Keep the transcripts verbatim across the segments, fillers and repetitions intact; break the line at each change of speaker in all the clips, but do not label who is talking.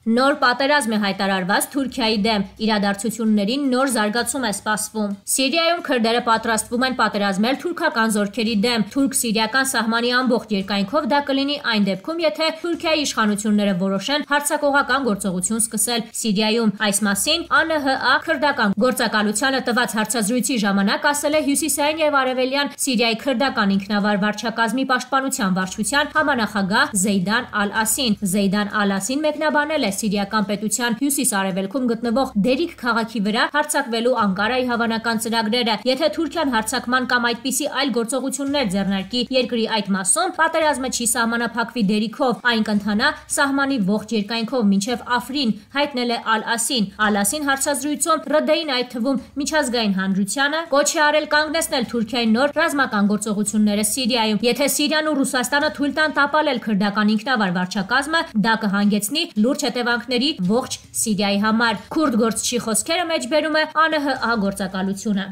Նոր պատերազմ է հայտարարված Թուրքիայի դեմ, իրադարձություններին նոր զարգացում է սպասվում։ Սիրիայում քրդերը պատրաստվում են պատերազմել թուրքական զորքերի դեմ։ Թուրք-սիրիական սահմանի ամբողջ երկայնքով դա կլինի այն դեպքում, եթե Թուրքիայի իշխանությունները որոշեն հարձակողական գործողություն սկսել Սիրիայում։ Այս մասին Ա Ն Հ Ա քրդական գործակալությանը տված հարցազրույցի ժամանակ ասել է Հյուսիսային եւ Արևելյան Սիրիայի քրդական ինքնավար վարչակազմի պաշտպանության վարչության համանախագահ Զեյդան Ալ-Ասին։ Զեյդան Ալ-Ասին մեկնաբանել է Սիրիական պետության հյուսիս-արևելքում գտնվող Դերիկ քաղաքի վրա հարձակվելու Անկարայի հավանական ծրագրերը, եթե Թուրքիան հարձակման կամ այդպիսի այլ գործողություններ ձեռնարկի երկրի այդ մասում, պատերազմը չի սահմանափակվի Դերիքով, այն կընթանա սահմանի ողջ երկայնքով մինչև Աֆրին, հայտնել է Ալ-Ասին։ Ալ-Ասին հարցազրույցում Ռ Դ-ին, այդ թվում միջազգային հանրությանը, կոչ է արել կանգնեցնել Թուրքիայի նոր ռազմական գործողությունները Սիրիայում։ Եթե Սիրիան ու Ռուսաստանը թույլ տան տապալել քրդական ինքնավար վարչակազմը, դա կհանգեցնի լուրջ հետևանքների ողջ Սիրիայի համար։ Քուրդ գործչի խոսքերը մեջբերում է Ա Ն Հ Ա գործակալությունը։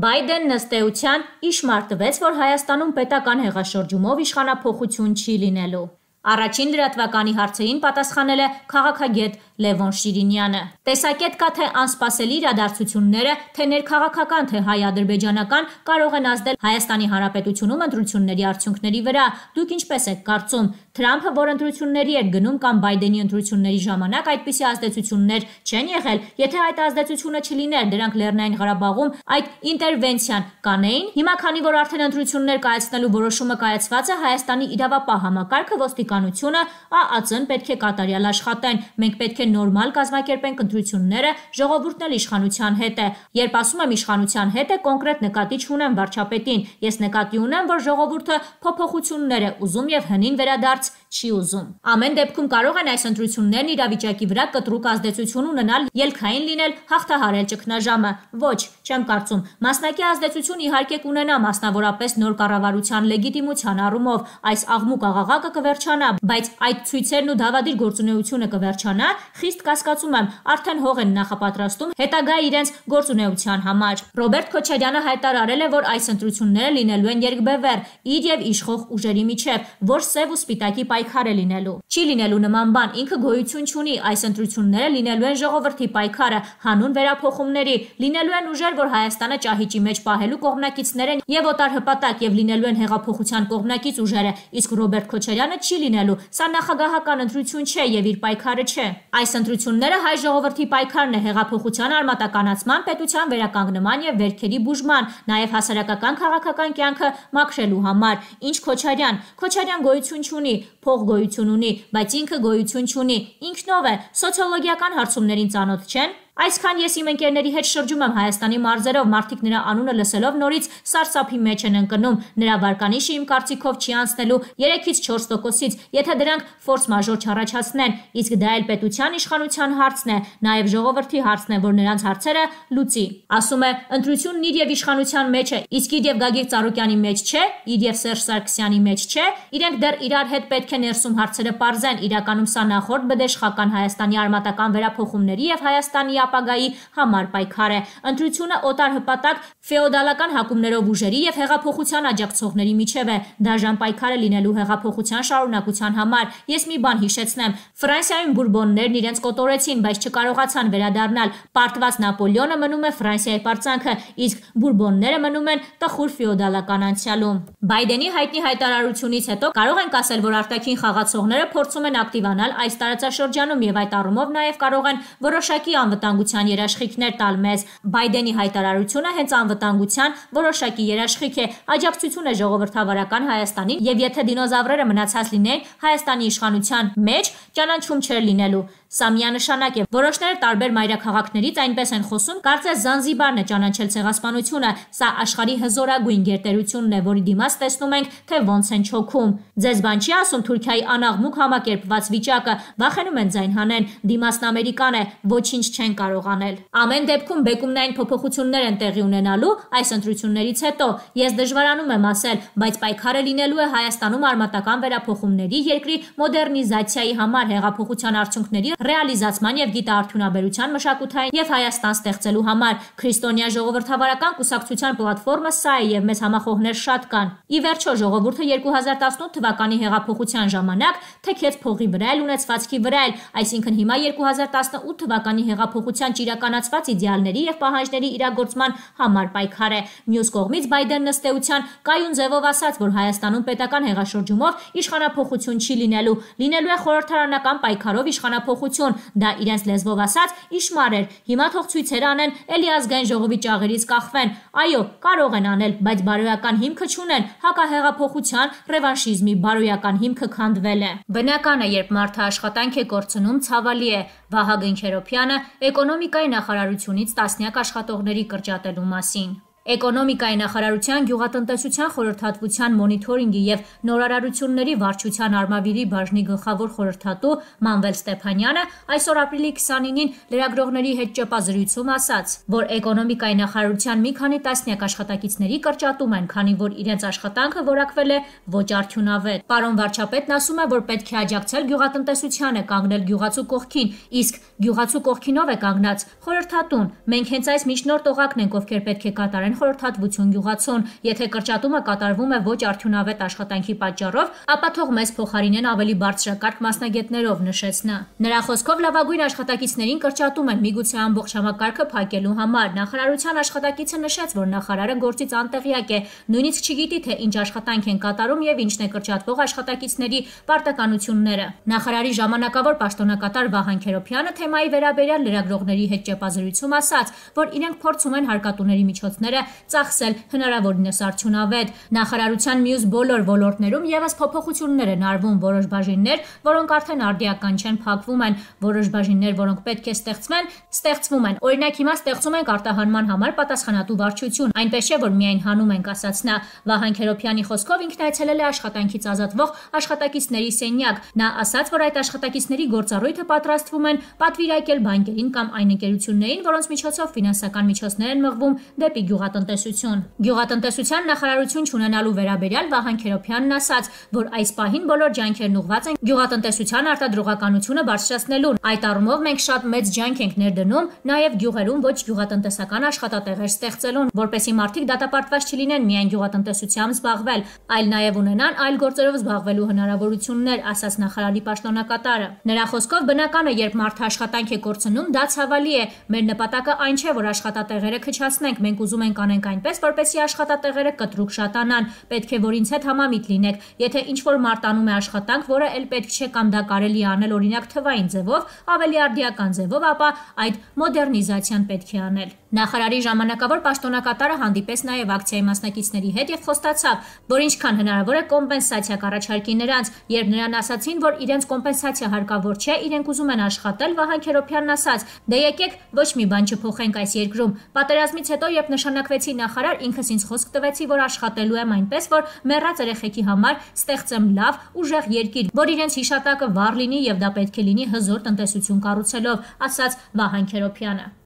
Բայդենն ըստ էության իշմար տվեց, որ Հայաստանում պետական հեղաշրջումով իշխանափոխություն չի լինելու։ Առաջին լրատվականի հարցերին պատասխանել է քաղաքագետ Լևոն Շիրինյանը։ Տեսակետ կա, թե անսպասելի իրադարձությունները, թե ներքաղաքական, թե հայ-ադրբեջանական, կարող են ազդել Հայաստանի Հանրապետությունում ընտրությունների արդյունքների վրա։ Դուք ինչպես եք կարծում, Թրամփը, որ ընտրությունների էր գնում, կամ Բայդենի ընտրությունների ժամանակ այդպիսի ազդեցություններ չեն եղել։ Եթե այդ ազդեցությունը չլիներ, դրանք Լեռնային Ղարաբաղում այդ ինտերվենցիան կանեին։ Հիմա, քանի որ արդեն ընտրություններ կայացնելու որոշումը կայացված է, Հայաստանի իրավապահ համակարգը, ոստիկանությունը, Ա Ա Ծ-ն պետք է կատարյալ աշխատեն։ Մենք պետք է նորմալ կազմակերպենք ընտրությունները, ժողովուրդն էլ իշխանության հետ է։ Երբ ասում եմ իշխանության հետ է, կոնկրետ նկատի չունեմ վարչապետին։ Ես նկատի ունեմ, որ ժողովուրդը փոփոխություններ է ուզում եւ հնին վերադարձ չի ուզում։ Ամեն դեպքում կարող են այս ընտրություններն իրավիճակի վրա կտրուկ ազդեցություն ունենալ, ելքային լինել, հաղթահարել ճգնաժամը։ Ոչ, չեմ կարծում։ Մասնակի ազդեցություն իհարկե կունենա, մասնավորապես նոր կառավարության լեգիտիմության առումով։ Այս աղմուկ աղաղակը կվերջանա, բայց այդ ցույցերն ու դավադիր գործունեությունը կվերջանա, խիստ կասկածում եմ, արդեն հող են նախապատրաստում հետագա իրենց գործունեության համար։ Ռոբերտ Քոչարյանը հայտարարել է, որ այս ընտրությունները լինելու են երկբևեռ, իր եւ իշխող ուժերի միջև, որ սև ու սպիտակի պայքար է լինելու։ Չի լինելու նման բան, ինքը գոյություն չունի, այս ընտրությունները լինելու են ժողովրդի պայքարը, հանուն վերափոխումների, լինելու են ուժեր, որ Հայաստանը ճահիճի մեջ պահելու կողմնակիցներ են եւ օտար հպատակ, եւ լինելու են հեղափոխության կողմնակից ուժերը, իսկ Ռոբերտ Քոչարյանը չի լինելու։ Սա նախագահական ընտրություն չէ եւ իր պայքարը չէ։ Այս ընտրությունները հայ ժողովրդի պայքարն է հեղափոխության արմատականացման, պետության վերականգնման եւ վերքերի բուժման, նաեւ հասարակական քաղաքական կյանքը մաքրելու համար։ Ինչ Քոչարյան, Քոչարյան գոյություն չունի, փող գոյություն ունի, բայց ինքը գոյություն չունի։ Ինքնով է, սոցիոլոգիական հարցումներին ծանոթ չեն։ Այսքան ես իմ ընկերների հետ շրջում եմ Հայաստանի մարզերով, մարդիկ նրա անունը լսելով նորից սարսափի մեջ են ընկնում։ Նրա վարկանիշը իմ կարծիքով չի անցնելու երեքից չորս տոկոսից, եթե դրանք ֆորս մաժոր չառաջացնեն, իսկ դա էլ պետության իշխանության հարցն է, նաև ժողովրդի հարցն է, որ նրանց հարցերը լուծի։ Ասում է, ընտրությունն իր եւ իշխանության մեջ է, իսկ իր եւ Գագիկ Ծառուկյանի մեջ չէ, իր եւ Սերժ Սարգսյանի մեջ չէ, իրենք դեռ իրար հետ պետք է ներսում հարցերը պարզեն, իրականում սա նախորդ բդեշխական Հայաստանի արմատական վերափոխումների եւ Հայաստանի ապագայի համար պայքար է։ Ընտրությունը օտար հպատակ ֆեոդալական հակումներով ուժերի եւ հեղափոխության աջակցողների միջև է։ Դաժան պայքար է լինելու հեղափոխության շարունակության համար։ Ես մի բան հիշեցնեմ։ Ֆրանսիայում բուրբոններն իրենց կոտորեցին, բայց չկարողացան վերադառնալ։ Պարտված Նապոլեոնը մնում է Ֆրանսիայի պարծանքը, իսկ բուրբոնները մնում են տխուր ֆեոդալական անցյալում։ Բայդենի հայտնի հայտարարությունից հետո կարող ենք ասել, որ արտաքին խաղացողները փորձում են ակտիվանալ այս տարածաշրջանում եւ այդ առումով նաեւ կարող են որոշակի անվտանգության երաշխիքներ տալ մեզ։ Բայդենի հայտարարությունը հենց անվտանգության որոշակի երաշխիք է, աջակցություն է ժողովրդավարական Հայաստանին, եւ եթե դինոզավրերը մնացած լինեին Հայաստանի իշխանության մեջ, ճանաչում չէր լինելու։ Սա միանշանակ է։ Որոշները տարբեր մայրաքաղաքներից այնպես են խոսում, կարծես Զանզիբարն է ճանաչել ցեղասպանությունը։ Սա աշխարհի հզորագույն գերտերությունն է, որի դիմաց տեսնում ենք, թե ոնց են չոքում։ Ձեզ բան չի ասում Թուրքիայի անաղմուկ համակերպված վիճակը, վախենում են ձայն հանեն, դիմացն Ամերիկան է, ոչինչ չեն կարող անել։ Ամեն դեպքում բեկումնային փոփոխություններ են տեղի ունենալու այս ընտրություններից հետո։ Ես դժվարանում եմ ասել, բայց պայքարը լինելու է Հայաստանում արմատական վերափոխումների, երկրի մոդեռնիզացիայի համար, հեղափոխության արդյունքների ռեալիզացման եւ գիտաարդյունաբերության մշակութային եւ Հայաստան ստեղծելու համար։ Քրիստոնյա ժողովրդավարական կուսակցության պլատֆորմը սա է եւ մեծ համախոհներ շատ կան։ Ի վերջո ժողովուրդը երկու հազար տասնութ թվականի հեղափոխության ժամանակ թեքեց փողի վրա էլ ունեցվածքի վրա էլ, այսինքն հիմա երկու հազար տասնութ թվականի հեղափոխության ճիրականացված իդեալների եւ պահանջների իրագործման համար պայքար է։ Մյուս կողմից Բայդենն ըստ էության կայուն ձևով ասաց, որ Հայաստանում պետական հեղաշրջումով իշխանափոխություն չի լինելու, լինելու է խորհրդարանական պայքարով իշխանափոխություն, դա իրենց լեզվով ասած իշմար էր, հիմա թող ցույցեր անեն, էլի ազգային ժողովի ճաղերից կախվեն, այո, կարող են անել, բայց բարոյական հիմքը չունեն, հակահեղափոխության, ռևանշիզմի բարոյական հիմքը քանդվել է։ Բնական է, երբ մարդը աշխատանք է կորցնում, ցավալի է։ Վահագն Քերոփյանը էկոնոմիկայի նախարարությունից տասնյակ աշխատողների կրճատելու մասին։ Էկոնոմիկայի նախարարության գյուղատնտեսության խորհրդատվության մոնիթորինգի եւ նորարարությունների վարչության արմավիրի բաժնի գլխավոր խորհրդատու Մանվել Ստեփանյանը այսօր ապրիլի քսանինին լրագրողների հետ ճեպազրույցում ասաց, որ էկոնոմիկայի նախարարության մի քանի տասնյակ աշխատակիցների կրճատում են, քանի որ իրենց աշխատանքը որակվել է ոչ արդյունավետ։ Պարոն վարչապետն ասում է, որ պետք է աջակցել գյուղատնտեսությանը, կանգնել գյուղացու կողքին, իսկ գյուղացու կողքին ով է կանգնած։ Խորհրդատուն։ Մենք հենց այս միջնորդ օղակն ենք, ովքեր պետք է կատարեն խորհրդատվություն գյուղացուն, եթե կրճատումը կատարվում է ոչ արդյունավետ աշխատանքի պատճառով, ապա թող մեզ փոխարինեն ավելի բարձրակարգ մասնագետներով, նշեց նա։ Նրա խոսքով լավագույն աշխատակիցներին կրճատում են միգուցե ամբողջ համակարգը փակելու համար։ Նախարարության աշխատակիցը նշեց, որ նախարարը գործից անտեղյակ է, նույնիսկ չգիտի, թե ինչ աշխատանք են կատարում եւ ինչն է կրճատվող աշխատակիցների պարտականությունները։ Նախարարի ժամանակավոր պաշտոնակատար Վահան Քերոփյանը թեմայի վերաբերյալ լրագրողների հետ ճեպազրույցում ասաց, որ իրենք փորձում են հարկատուների միջոցները ծախսել հնարավորինս արդյունավետ։ Նախարարության մյուս բոլոր ոլորտներում եւս փոփոխություններ են արվում, որոշ բաժիններ, որոնք արդեն արդիական չեն, փակվում են, որոշ բաժիններ, որոնք պետք է ստեղծվեն, ստեղծվում են։ Օրինակ հիմա ստեղծում ենք արտահանման համար պատասխանատու վարչություն, այնպես չէ, որ միայն հանում ենք, ասաց նա։ Վահան Քերոփյանի խոսքով ինքն այցելել է աշխատանքից ազատվող աշխատակիցների սենյակ։ Նա ասաց, որ այդ աշխատակիցների գործառույթը պատրաստվում են պատվիրակել բանկերին կամ այն ընկերություններին, որոնց միջոցով ֆինանսական միջոցներ են մղվում դեպի գյուղատնտեսություն։ Գյուղատնտեսության նախարարություն չունենալու վերաբերյալ Վահան Քերոփյանն ասաց, որ այս պահին բոլոր ջանքերն ուղղված են գյուղատնտեսության արտադրողականությունը բարձրացնելուն։ Այդ առումով մենք շատ մեծ ջանք ենք ներդնում նաև գյուղերում ոչ գյուղատնտեսական աշխատատեղեր ստեղծելուն, որպեսզի մարդիկ դատապարտված չլինեն միայն գյուղատնտեսությամբ զբաղվել, այլ նաև ունենան այլ գործերով զբաղվելու հնարավորություններ, ասաց նախարարի պաշտոնակատարը։ Նրա խոսքով բնական է, երբ մարդը աշխատանք է կորցնում, դա ցավալի է։ Մեր նպատակը այն չէ, որ աշխատատեղերը քչացնենք, մենք ուզում ենք անենք այնպես, որպեսզի աշխատատեղերը կտրուկ շատանան, պետք է որ ինձ հետ համամիտ լինեք։ Եթե ինչ-որ մարդ անում է աշխատանք, որը էլ պետք չէ կամ դա կարելի է անել օրինակ թվային ձևով, ավելի արդիական ձևով, ապա այդ մոդեռնիզացիան պետք է անել։ Նախարարի ժամանակավոր պաշտոնակատարը հանդիպեց նաև ակցիայի մասնակիցների հետ եւ խոստացավ, որ ինչքան հնարավոր է կոմպենսացիա կառաջարկի նրանց, երբ նրան ասացին, որ իրենց կոմպենսացիա հարկավոր չէ, իրենք ուզում են աշխատել, Վահան Քերոփյանն ասաց. «Դե եկեք ոչ մի բան չփոխենք այս երկրում»։ Պատերազմից հետո, երբ նշանակվեցի նախարար, ինքս ինձ խոսք տվեցի, որ աշխատելու եմ այնպես, որ մեռած երեխեքի համար ստեղծեմ լավ, ուժեղ երկիր, որ իրենց հիշատակը վառ լինի եւ դա պետք է լինի հզոր տնտեսություն կառուցելով, ասաց Վահան Քերոփյանը։